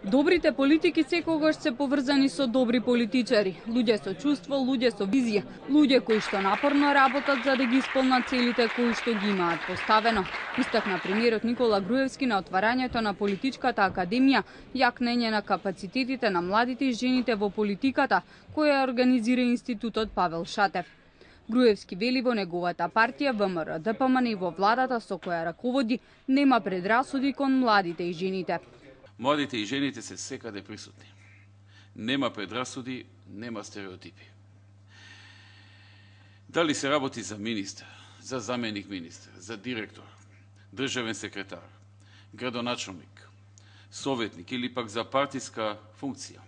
Добрите политики секогаш се поврзани со добри политичари, луѓе со чувство, луѓе со визија, луѓе кои што напорно работат за да ги исполнат целите кои што ги имаат поставено. Истакна примерот Никола Груевски на отварањето на Политичката академија, јакнење на капацитетите на младите и жените во политиката, која организира Институтот Павел Шатев. Груевски вели во неговата партија ВМРО-ДПМН и во владата со која раководи нема предрасуди кон младите и жените. Младите и жените се секаде присутни. Нема предрасуди, нема стереотипи. Дали се работи за министер, за заменик министер, за директор, државен секретар, градоначалник, советник или пак за партиска функција,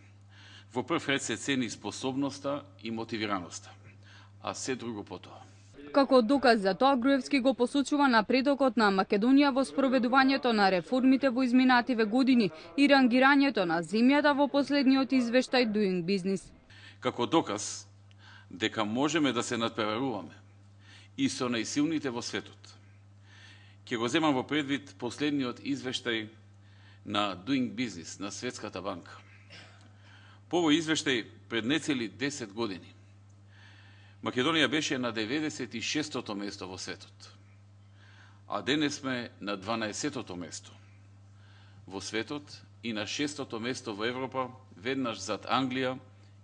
во прв ред се цени способноста и мотивираноста, а се друго потоа. Како доказ за тоа, Груевски го посочува напредокот на Македонија во спроведувањето на реформите во изминативе години и рангирањето на земјата во последниот извештај Doing Business. Како доказ дека можеме да се надпреваруваме и со најсилните во светот, ќе го земам во предвид последниот извештај на Doing Business на Светската банка. По овој извештај пред нецели 10 години Македонија беше на 96-тото место во светот, а денес сме на 12-тото место во светот и на 6-тото место во Европа, веднаш зад Англија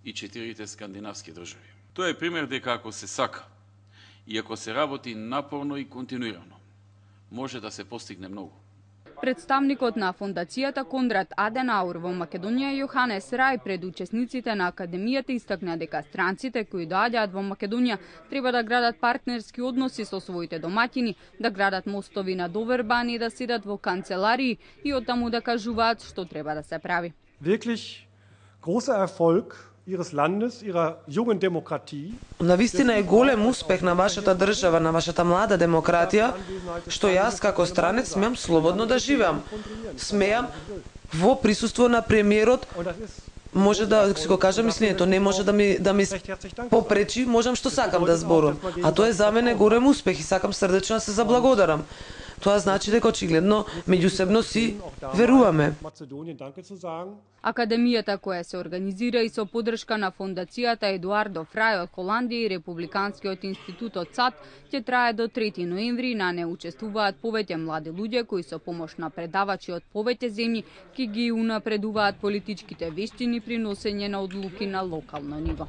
и 4 скандинавски држави. Тоа е пример дека ако се сака и ако се работи напорно и континуирано, може да се постигне многу. Представникот на фондацијата Конрад Аденауер во Македонија Јоханес Рај пред учесниците на академијата истакна дека странците кои доаѓаат во Македонија треба да градат партнерски односи со своите домаќини, да градат мостови на доверба, не да седат во канцеларии и оттаму да кажуваат што треба да се прави. Wirklich großer Erfolg ihres Landes, ihrer jungen Demokratie. Навистина е голем успех на вашата држава, на вашата млада демократија, што јас како странец смеам слободно да живеам. Смеам во присуство на премиерот, може да си го кажам мислењето, не може да ми попречи, можам што сакам да зборам. А тоа е за мене голем успех и сакам срдечно да се заблагодарам. Тоа значи дека очигледно меѓусебно си веруваме. Академијата која се организира и со поддршка на фондацијата Едуардо Фрај од Холандија и Републиканскиот институт од САД ќе трае до 3 ноември. На не учествуваат повеќе млади луѓе кои со помош на предавачи од повеќе земји ќе ги унапредуваат политичките вештини при носење на одлуки на локално ниво.